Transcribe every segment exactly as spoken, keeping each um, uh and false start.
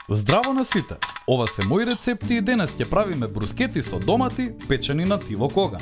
Здраво на сите! Ова се мои рецепти и денес ќе правиме брускети со домати печени на тиво коган.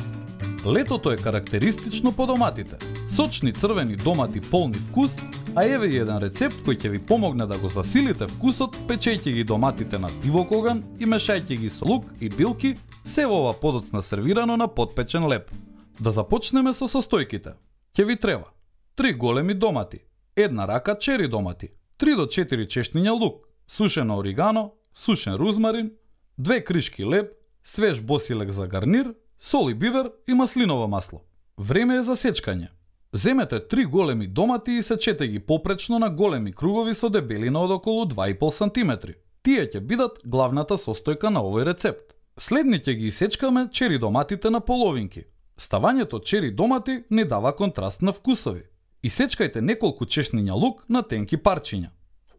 Летото е карактеристично по доматите. Сочни црвени домати полни вкус, а еве и еден рецепт кој ќе ви помогне да го засилите вкусот печејќи ги доматите на тиво коган и мешајќи ги со лук и билки, се во ова подоцна сервирано на подпечен леп. Да започнеме со состојките. Ќе ви треба три големи домати, една рака чери домати, три до четири чешниња лук, сушено оригано, сушен рузмарин, две кришки леб, свеж босилек за гарнир, сол и бивер и маслиново масло. Време е за сечкање. Земете три големи домати и сечете ги попречно на големи кругови со дебелина од околу два и пол сантиметри. Тие ќе бидат главната состојка на овој рецепт. Следни ќе ги сечкаме чери доматите на половинки. Ставањето чери домати не дава контраст на вкусови. И сечкајте неколку чешниња лук на тенки парчиња.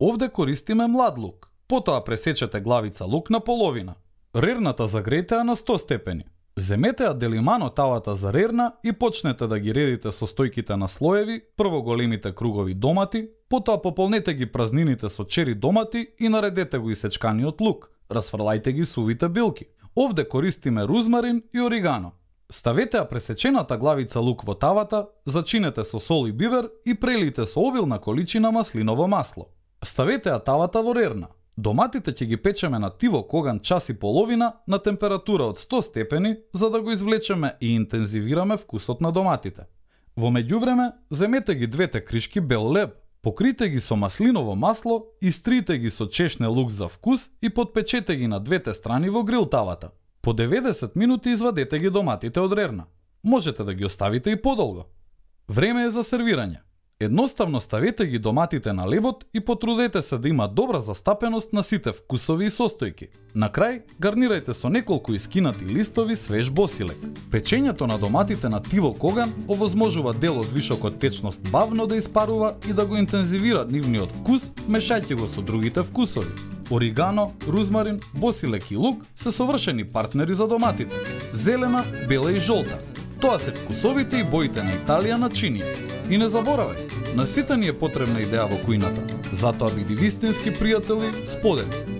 Овде користиме млад лук. Потоа пресечете главица лук на половина. Рерната загрејте на сто степени. Земете ја делимано тавата за рерна и почнете да ги редите состојките на слоеви, прво големите кругови домати, потоа пополнете ги празнините со чери домати и наредете го исечканиот лук. Расфрлајте ги сувите билки. Овде користиме рузмарин и оригано. Ставете ја пресечената главица лук во тавата, зачинете со сол и бивер и прелите со обилна количина маслиново масло. Ставете ја тавата во рерна. Доматите ќе ги печеме на тиво коган час и половина на температура од сто степени за да го извлечеме и интензивираме вкусот на доматите. Во меѓувреме, земете ги двете кришки бел леб, покрите ги со маслиново масло, истрите ги со чешне лук за вкус и подпечете ги на двете страни во грил тавата. По деветдесет минути извадете ги доматите од рерна. Можете да ги оставите и подолго. Време е за сервирање. Едноставно ставете ги доматите на лебот и потрудете се да има добра застапеност на сите вкусови и состојки. На крај, гарнирајте со неколку искинати листови свеж босилек. Печењето на доматите на тиво коган овозможува дел од вишокот течност бавно да испарува и да го интензивира нивниот вкус, мешајќи го со другите вкусови. Оригано, рузмарин, босилек и лук се совршени партнери за доматите. Зелена, бела и жолта. Тоа се вкусовите и боите на Италија начини. И не заборавај, на сите ни е потребна идеја во кујната. Затоа биди вистински пријатели, сподели.